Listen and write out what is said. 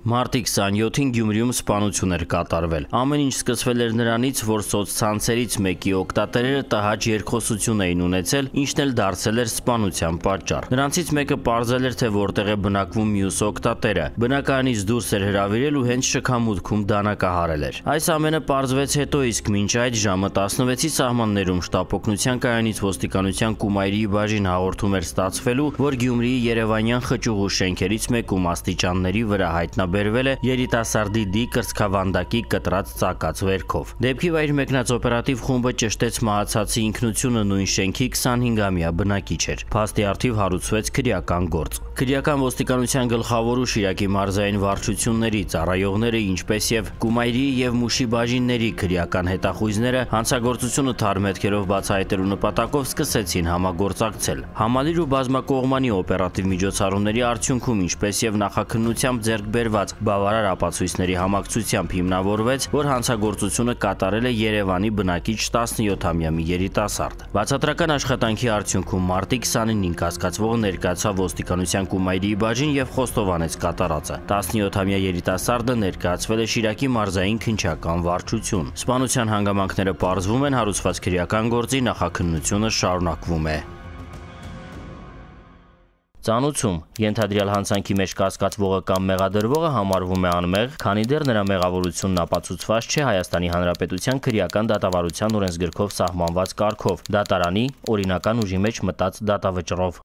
Մարտի 27-ին Գյումրիում սպանություն էր կատարվել։ Ամեն ինչ սկսվել էր նրանից, որ սոցցանցերից մեկի օգտատերերը տհաճ երկխոսություն էին ունեցել, ինչն էլ դարձել էր սպանության պատճառ։ Նրանցից մեկը պարզել էր, թե որտեղ է բնակվում մյուս օգտատերը։ Բնակարանից դուրս էր հրավիրել ու հենց շքամուտքում դանակահարել էր։ Այս ամենը պարզվեց հետո, իսկ մինչ այդ ժամը 16-ի սահմաններում շտապօգնության կայանից ոստիկանության Կումայրի բաժին հաղորդում էր ստացվելու, որ Գյումրիի երևանյան խճուղու շենքերից մեկում աստիճանների վրա հայտնաբերվել է երիտասարդի դի կրծքավանդակի կտրած ծակած վերքով։ Դեպքի վայր մեկնած օպերատիվ խումբը ճշտեց մահացածի ինքնությունը նույն շենքի 25-ամյա բնակիչ էր։ Փաստի առթիվ հարուցվեց քրեական գործ։ Քրեական ոստիկանության գլխավոր ու Շիրակի մարզային վարչությունների ծառայողները, ինչպես եւ Կումայրի եւ Մուշի բաժինների քրեական հետախույզները հանցագործությունը թարմետքերով բացահայտելու նպատակով սկսեցին համագործակցել։ Համալիր ու բազմակողմանի օպերատիվ միջոցառումների արդյունքում, ինչպես եւ նախաքննությամբ ձեռք բերված բավարար ապացույցների համակցությամբ հիմնավորվեց, որ հանցագործությունը կատարել է Երևանի բնակիչ 17-ամյա մի երիտասարդ։ Բացատրական աշխատանքի արդյունքում մարտի 29-ին կասկածվողը ներկայացավ ոստիկանության Կումայրի բաժին եւ խոստովանեց կատարածը։ 17-ամյա երիտասարդը ներկայացվել է Շիրակի մարզային քննչական վարչություն։ Սպանության հանգամանքները պարզվում են, հարուցված քրեական գործի նախաքննությունը շարունակվում է։ Ծանուցում ենթադրյալ հանցանքի մեջ կասկածվողը կամ մեղադրվողը համարվում է անմեղ, քանի դեռ նրա մեղավորությունն ապացուցված չէ Հայաստանի Հանրապետության քրեական դատավարության օրենսգրքով սահմանված կարգով՝ դատարանի օրինական ուժի մեջ մտած դատավճռով։